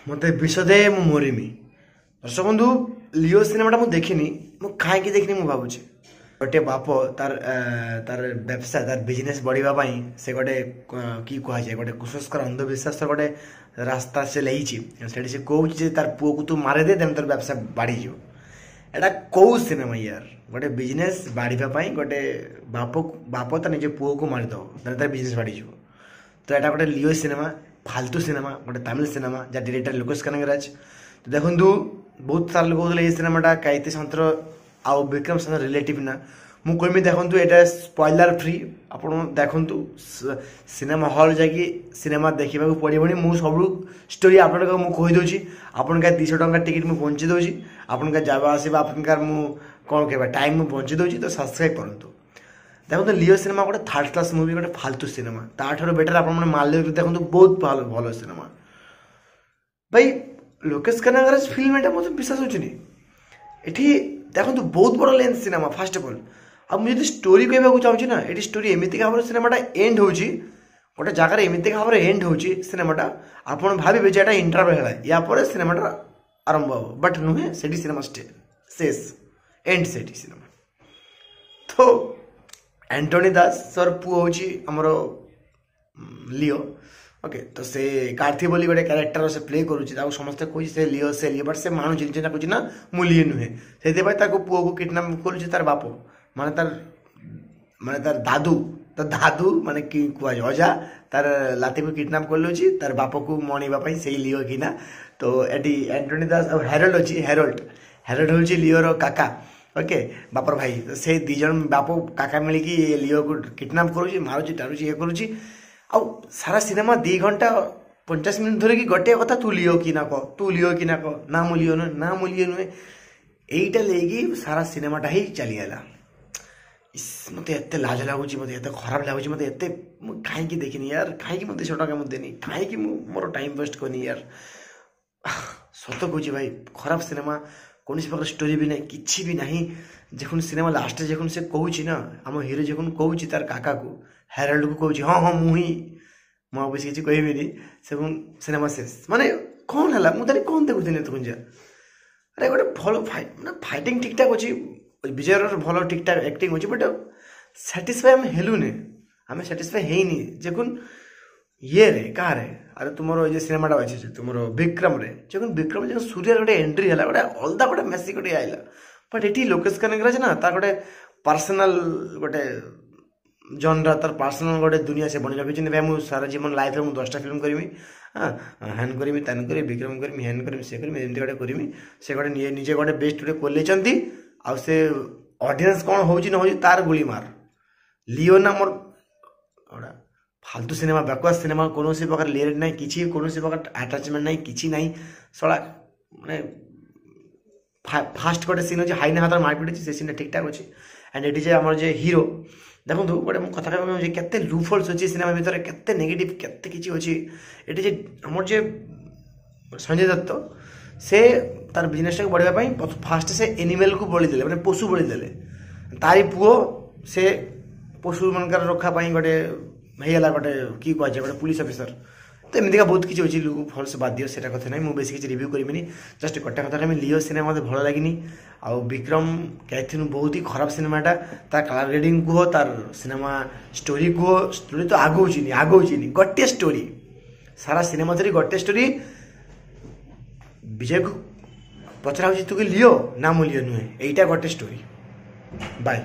ମୋତେ ବିଷ ଦେ ମୁଁ ମରିମି। ଦର୍ଶକ ବନ୍ଧୁ, ଲିଓ ସିନେମାଟା ମୁଁ ଦେଖିନି। ମୁଁ କାହିଁକି ଦେଖିନି ମୁଁ ଭାବୁଛି। ଗୋଟେ ବାପ ତାର ବ୍ୟବସାୟ, ତାର ବିଜନେସ୍ ବଢ଼ିବା ପାଇଁ ସେ ଗୋଟେ କି କୁହାଯାଏ, ଗୋଟେ କୁସଂସ୍କାର, ଅନ୍ଧବିଶ୍ୱାସର ଗୋଟେ ରାସ୍ତା ସେ ନେଇଛି। ସେଠି ସେ କହୁଛି ଯେ ତାର ପୁଅକୁ ତୁ ମାରିଦେ, ଦେନ୍ ତୋର ବ୍ୟବସାୟ ବାଢ଼ିଯିବ। ଏଇଟା କେଉଁ ସିନେମା ୟାର? ଗୋଟେ ବିଜନେସ୍ ବାଢ଼ିବା ପାଇଁ ଗୋଟେ ବାପ ତା ନିଜ ପୁଅକୁ ମାରିଦେବ, ତାହେଲେ ତାର ବିଜନେସ୍ ବାଢ଼ିଯିବ। ତ ଏଇଟା ଗୋଟେ ଲିଓ ସିନେମା, ଫାଲତୁ ସିନେମା, ଗୋଟେ ତାମିଲ ସିନେମା, ଯାହା ଡିରେକ୍ଟର ଲୋକେଶ କନଗରାଜ। ତ ଦେଖନ୍ତୁ, ବହୁତ ସାରା ଲୋକ କହୁଥିଲେ ଏଇ ସିନେମାଟା କାଇତି ସନ୍ତର ଆଉ ବିକ୍ରମ ସନ୍ତର ରିଲେଟିଭ୍ ନା। ମୁଁ କହିବି, ଦେଖନ୍ତୁ, ଏଇଟା ସ୍ପଏଲର ଫ୍ରି। ଆପଣ ଦେଖନ୍ତୁ, ସିନେମା ହଲ୍ ଯାଇକି ସିନେମା ଦେଖିବାକୁ ପଡ଼ିବନି। ମୁଁ ସବୁ ଷ୍ଟୋରି ଆପଣଙ୍କୁ ମୁଁ କହିଦେଉଛି। ଆପଣଙ୍କ 200 ଟଙ୍କା ଟିକେଟ୍ ମୁଁ ବଞ୍ଚେଇ ଦେଉଛି, ଆପଣଙ୍କ ଯିବା ଆସିବା, ଆପଣଙ୍କର ମୁଁ କ'ଣ କହିବା, ଟାଇମ୍ ମୁଁ ବଞ୍ଚେଇ ଦେଉଛି। ତ ସବସ୍କ୍ରାଇବ୍ କରନ୍ତୁ। ଦେଖନ୍ତୁ, ଲିଓ ସିନେମା ଗୋଟେ ଥାର୍ଡ଼ କ୍ଲାସ୍ ମୁଭି, ଗୋଟେ ଫାଲତୁ ସିନେମା। ତାଠାରୁ ବେଟର୍ ଆପଣମାନେ ମାଲ୍ୟ ଦେଖନ୍ତୁ, ବହୁତ ଭଲ ଭଲ ସିନେମା। ଭାଇ, ଲୋକେଶ କନଗରାଜ ଫିଲ୍ମ ଏଇଟା, ମୋତେ ବିଶ୍ୱାସ ହେଉନି। ଏଠି ଦେଖନ୍ତୁ, ବହୁତ ବଡ଼ length cinema first of all. ଆଉ ମୁଁ ଯଦି ଷ୍ଟୋରି କହିବାକୁ ଚାହୁଁଛି ନା, ଏଠି ଷ୍ଟୋରି ଏମିତିକା ଭାବରେ ସିନେମାଟା ଏଣ୍ଡ ହେଉଛି, ଗୋଟେ ଜାଗାରେ ଏମିତିକା ଭାବରେ ଏଣ୍ଡ ହେଉଛି ସିନେମାଟା, ଆପଣ ଭାବିବେ ଯେ ଏଇଟା ଇଣ୍ଟରଭେଲ୍ ହେଲା, ୟା ପରେ ସିନେମାଟା ଆରମ୍ଭ ହେବ। ବଟ୍ ନୁହେଁ, ସେଠି ସିନେମା ଶେଷ, ଏଣ୍ଡ ସେଠି ସିନେମା। ତ ଆଣ୍ଟୋନି ଦାସର ପୁଅ ହେଉଛି ଆମର ଲିଓ, ଓକେ। ତ ସେ କାର୍ଥି ବୋଲି ଗୋଟେ କ୍ୟାରେକ୍ଟର ସେ ପ୍ଲେ କରୁଛି। ତାକୁ ସମସ୍ତେ କହୁଛି ସେ ଲିଓ, ସେ ଲିଓ, ବଟ୍ ସେ ମାନୁଛି, ନିଜେ କହୁଛି ନା ମୁଁ ଲିଓ ନୁହେଁ। ସେଥିପାଇଁ ତାକୁ ପୁଅକୁ କିଡ଼ନାପ୍ କରୁଛି ତାର ବାପ, ମାନେ ତାର ଦାଦୁ। ତ ଦାଦୁ ମାନେ କି କୁହାଯାଏ, ଅଜା ତାର ଲାତିକୁ କିଡ଼ନାପ୍ କରିନେଉଛି ତାର ବାପକୁ ମଣିବା ପାଇଁ ସେଇ ଲିଓ କିନା। ତ ଏଠି ଆଣ୍ଟୋନି ଦାସ ଆଉ ହେରୋଲ୍ଡ ଅଛି। ହେରୋଲ୍ଡ ହେଉଛି ଲିଓର କାକା, ଓକେ, ବାପର ଭାଇ। ତ ସେ ଦୁଇ ଜଣ ବାପ କାକା ମିଳିକି ଲିଓକୁ କିଡ଼ନାପ୍ କରୁଛି, ମାରୁଛି, ଟାଣୁଛି, ଇଏ କରୁଛି। ଆଉ ସାରା ସିନେମା 2 ଘଣ୍ଟା 50 ମିନିଟ୍ ଧରିକି ଗୋଟିଏ କଥା, ତୁ ଲିଓ କି ନା କହ, ତୁ ଲିଓ କି ନା କହ, ନା ମୁଁ ଲିଓ ନୁହେଁ, ନା ମୁଁ ଲିଓ ନୁହେଁ। ଏଇଟା ନେଇକି ସାରା ସିନେମାଟା ହିଁ ଚାଲିଗଲା। ଇସ୍, ମୋତେ ଏତେ ଲାଜ ଲାଗୁଛି, ମୋତେ ଏତେ ଖରାପ ଲାଗୁଛି, ମୋତେ ଏତେ, ମୁଁ କାହିଁକି ଦେଖିନି ୟାର? କାହିଁକି ମୁଁ 200 ଟଙ୍କା ମୁଁ ଦେନି? କାହିଁକି ମୁଁ ମୋର ଟାଇମ୍ ୱେଷ୍ଟ କରିନି ୟାର? ସତ କହୁଛି ଭାଇ, ଖରାପ ସିନେମା। କୌଣସି ପ୍ରକାର ଷ୍ଟୋରି ବି ନାହିଁ, କିଛି ବି ନାହିଁ। ଯখন ସିନେମା ଲାଷ୍ଟରେ ଯখন ସେ କହୁଛି ନା, ଆମ ହିରୋ ଯখন କହୁଛି ତାର କାକାକୁ, ହେରାଲ୍ଡକୁ କହୁଛି, ହଁ ହଁ ମୁଁ ହିଁ, ମୁଁ ଆଉ ବେଶୀ କିଛି କହିବିନି, ସେ ସିନେମା ଶେଷ। ମାନେ କ'ଣ ହେଲା? ମୁଁ ତାହେଲେ କ'ଣ ଦେଖୁଥିଲି ଏତକ୍ଷଣ ଯା? ଆରେ, ଗୋଟେ ଭଲ ଫାଇଟ୍, ମାନେ ଫାଇଟିଂ ଠିକ୍ଠାକ୍ ଅଛି, ବିଜୟର ଭଲ ଠିକ୍ଠାକ୍ ଆକ୍ଟିଂ ଅଛି, ବଟ୍ ସାଟିସ୍ଫାଏ ଆମେ ହେଲୁନି, ଆମେ ସାଟିସ୍ଫାଏ ହେଇନି। ଯখন ଇଏରେ କାହାରେ, ଆରେ ତୁମର ଏ ଯେ ସିନେମାଟା ଅଛି ଯେ ତୁମର ବିକ୍ରମରେ, ଯখন ବିକ୍ରମ ଯখন ସୂର୍ଯ୍ୟର ଗୋଟେ ଏଣ୍ଟ୍ରି ହେଲା, ଗୋଟେ ଅଲଗା ଗୋଟେ ମେସି ଗୋଟେ ଆଇଲା। ବଟ୍ ଏଠି ଲୋକେଶ କନଗରାଜ ନା ତାର ଗୋଟେ ପର୍ସନାଲ ଗୋଟେ ଜନରା, ତାର ପର୍ସନାଲ ଗୋଟେ ଦୁନିଆ ସେ ବନେଇ ରଖିଛନ୍ତି। ଭାଇ, ମୁଁ ସାରା ଜୀବନ ଲାଇଫରେ ମୁଁ 10ଟା ଫିଲ୍ମ କରିବି, ହଁ, ହ୍ୟାନ୍ କରିବି, ତାନ୍ କରିବି, ବିକ୍ରମ କରିବି, ହ୍ୟାନ୍ କରିବି, ସେ କରିବି, ଏମିତି ଗୋଟେ କରିବି। ସେ ଗୋଟେ ନିଜେ ଗୋଟେ ବେଷ୍ଟ ଗୋଟେ ଖୋଲେଇଛନ୍ତି। ଆଉ ସେ ଅଡ଼ିଏନ୍ସ କ'ଣ ହେଉଛି ନ ହେଉଛି ତାର ଗୁଳି ମାର। ଲିଓ ନା ମୋର ଗୋଟେ ଫାଲତୁ ସିନେମା, ବ୍ୟାକୱାର୍ଡ ସିନେମା। କୌଣସି ପ୍ରକାର ଲିରିକ୍ ନାହିଁ, କିଛି କୌଣସି ପ୍ରକାର ଆଟାଚମେଣ୍ଟ ନାହିଁ, କିଛି ନାହିଁ। ଶଳା, ମାନେ ଫାଷ୍ଟ ଗୋଟେ ସିନ୍ ଅଛି, ହାଇନା ହାତରେ ମାରପିଟ ଅଛି, ସେ ସିନ୍ଟା ଠିକ୍ଠାକ୍ ଅଛି। ଆଣ୍ଡ ଏଠି ଯେ ଆମର ଯେ ହିରୋ, ଦେଖନ୍ତୁ, ଗୋଟେ ମୁଁ କଥା କହିବାକୁ ଚାହୁଁଛି, କେତେ ଲୁପ୍ ଅଛି ସିନେମା ଭିତରେ, କେତେ ନେଗେଟିଭ୍, କେତେ କିଛି ଅଛି। ଏଠି ଯେ ଆମର ଯେ ସଞ୍ଜୟ ଦତ୍ତ, ସେ ତାର ବିଜନେସଟାକୁ ବଢ଼ିବା ପାଇଁ ଫାଷ୍ଟ ସେ ଏନିମେଲକୁ ବଳି ଦେଲେ, ମାନେ ପଶୁ ବଳି ଦେଲେ। ତାରି ପୁଅ ସେ ପଶୁମାନଙ୍କର ରକ୍ଷା ପାଇଁ ଗୋଟେ ହେଇଗଲା, ଗୋଟେ କି କୁହାଯାଏ, ଗୋଟେ ପୁଲିସ ଅଫିସର। ତ ଏମିତିକା ବହୁତ କିଛି ଅଛି ଲୁପ୍ ଫଲ୍ସ, ବାଦ ଦିଅ ସେଇଟା କଥା ନାହିଁ। ମୁଁ ବେଶୀ କିଛି ରିଭ୍ୟୁ କରିବିନି। ଜଷ୍ଟ ଗୋଟେ କଥା କହିବି, ଲିଓ ସିନେମା ମୋତେ ଭଲ ଲାଗିନି। ଆଉ ବିକ୍ରମ କ୍ୟାଥିନ୍ ବହୁତ ହି ଖରାପ ସିନେମାଟା। ତା କଲର୍ ଗ୍ରେଡ଼ିଂ କୁହ, ତାର ସିନେମା ଷ୍ଟୋରି କୁହ, ଷ୍ଟୋରି ତ ଆଗଉଚିନି, ଆଗଉଚିନି। ଗୋଟିଏ ଷ୍ଟୋରି ସାରା ସିନେମା ଧରି ଗୋଟିଏ ଷ୍ଟୋରି। ବିଜୟକୁ ପଚରା ହେଉଛି, ତୁ କି ଲିଓ? ନା, ମୁଁ ଲିଓ ନୁହେଁ। ଏଇଟା ଗୋଟେ ଷ୍ଟୋରି। ବାଏ।